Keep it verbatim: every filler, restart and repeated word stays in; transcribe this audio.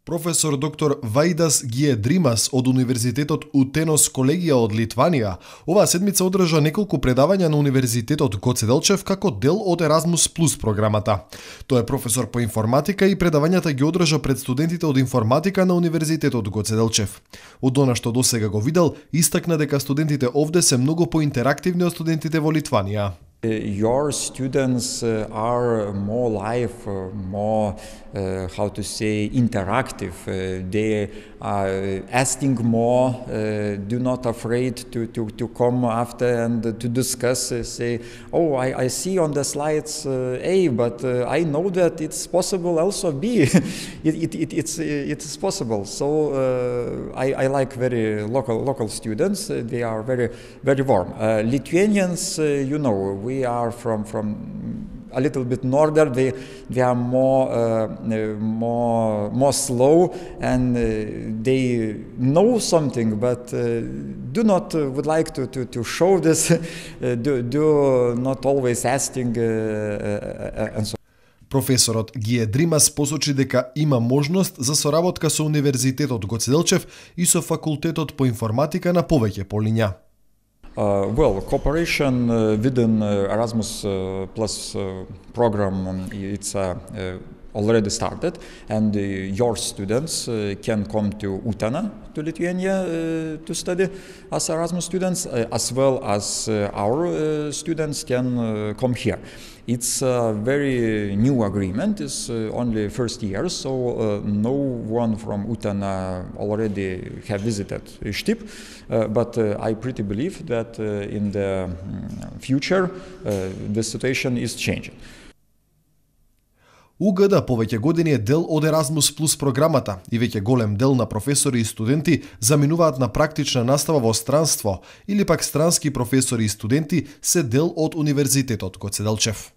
Професор доктор Вајдас Гиедримас од Универзитетот Утенос колегија од Литванија оваа седмица одржа неколку предавања на Универзитетот Гоце Делчев како дел од Еразмус Плюс програмата. Тој е професор по информатика и предавањата ги одржа пред студентите од информатика на Универзитетот Гоце Делчев. Од она што досега го видел, истакна дека студентите овде се многу поинтерактивни од студентите во Литванија. Your students uh, are more live, uh, more, uh, how to say, interactive. Uh, they are asking more, uh, do not afraid to, to, to come after and to discuss, uh, say, oh, I, I see on the slides uh, A, but uh, I know that it's possible also B. it, it, it, it's, it's possible. So uh, I, I like very local, local students. Uh, they are very, very warm. Uh, Lithuanians, uh, you know, we are from from a little bit northern. They they are more uh, more more slow, and uh, they know something, but uh, do not uh, would like to to, to show this. uh, do, do not always asking uh, uh, and so. Професорот Гиедримас посочи дека има можност за соработка со Универзитетот Гоце Делчев и со Факултетот по информатика на повеќе полиња. Uh, well, cooperation uh, within uh, Erasmus uh, Plus uh, program, um, it's uh, uh, already started, and uh, your students uh, can come to Utena, to Lithuania, uh, to study as Erasmus students, uh, as well as uh, our uh, students can uh, come here. It's a very new agreement, it's uh, only first year, so uh, no one from Utena already have visited Štip, uh, but uh, I pretty believe that uh, in the future uh, the situation is changing. У Г Д повеќе години е дел од Еразмус Плюс програмата и веќе голем дел на професори и студенти заминуваат на практична настава во странство или пак странски професори и студенти се дел од Универзитетот Гоце Делчев.